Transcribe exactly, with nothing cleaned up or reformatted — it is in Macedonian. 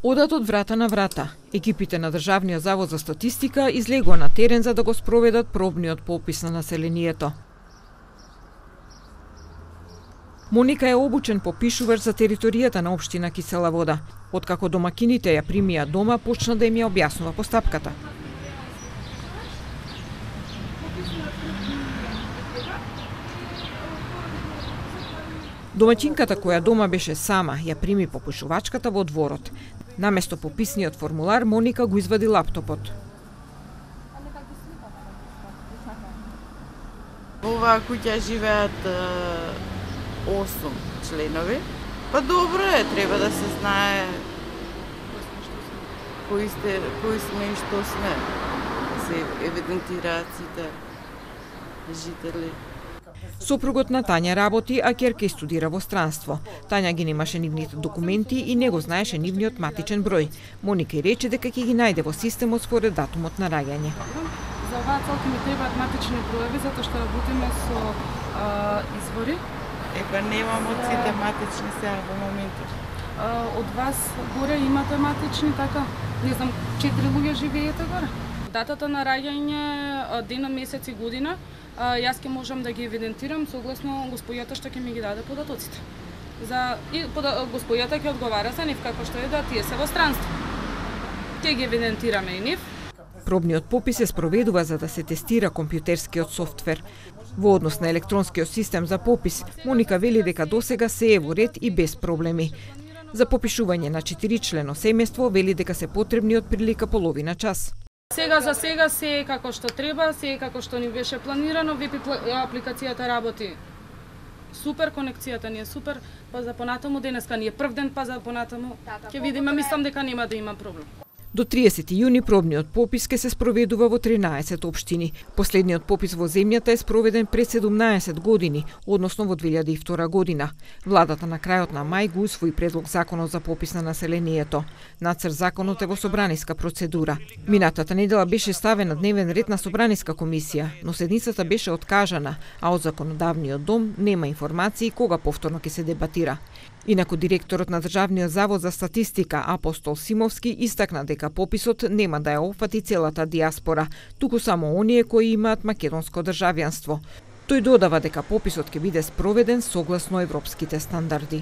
Одат од врата на врата. Екипите на Државниот завод за статистика излегува на терен за да го спроведат пробниот попис на населението. Моника е обучен попишувач за територијата на општина Кисела Вода. Откако домакините ја примија дома, почна да им ја објаснува постапката. Домаќинката која дома беше сама, ја прими попишувачката во дворот. Наместо пописниот формулар, Моника го извади лаптопот. Во оваа куќа живеат осум членови. Па добро е, треба да се знае кои сте, кои сме и што сме. Се евидентираат сите жители. Сопругот на Тања работи, а ќерка студира во странство. Тања ги немаше нивните документи и не го знаеше нивниот матичен број. Моника и рече дека ќе ги најде во системот според датумот на раѓање. За оваа цел ќе ми требаат матични броеви, затоа што работиме со а, извори. Епа немам од сите матични сега во моментот. А, од вас горе имате матични, така? Не знам, четири луѓе живеете горе. Датата на раѓање, дена, месец и година, а, јас ќе можам да ги евидентирам согласно господјата што ќе ми ги даде податоците. За и пода, господјата ќе одговара за нив како што е да тие се во странство. Ќе ги евидентираме и нив. Пробниот попис се спроведува за да се тестира компјутерскиот софтвер. Во однос на електронскиот систем за попис, Моника вели дека досега се е во ред и без проблеми. За попишување на четиричлено семејство вели дека се потребни од прилика половина час. Сега за сега се е како што треба, се е како што ни беше планирано, веб апликацијата работи супер, конекцијата ни е супер, па за понатаму денеска ни е прв ден, па за понатаму ќе видиме, мислам дека нема да има проблем. До триесети јуни пробниот попис ке се спроведува во тринаесет општини. Последниот попис во земјата е спроведен пред седумнаесет години, односно во две илјади и втора година. Владата на крајот на мај го усвои предлог законот за попис на населението. Нацрт законот е во собраниска процедура. Минатата недела беше ставен на дневен ред на собраниска комисија, но седницата беше откажана, а од законодавниот дом нема информации кога повторно ќе се дебатира. Инаку директорот на Државниот завод за статистика Апостол Симовски истакна дека пописот нема да ја опфати целата диаспора, туку само оние кои имаат македонско државјанство. Тој додава дека пописот ќе биде спроведен согласно европските стандарди.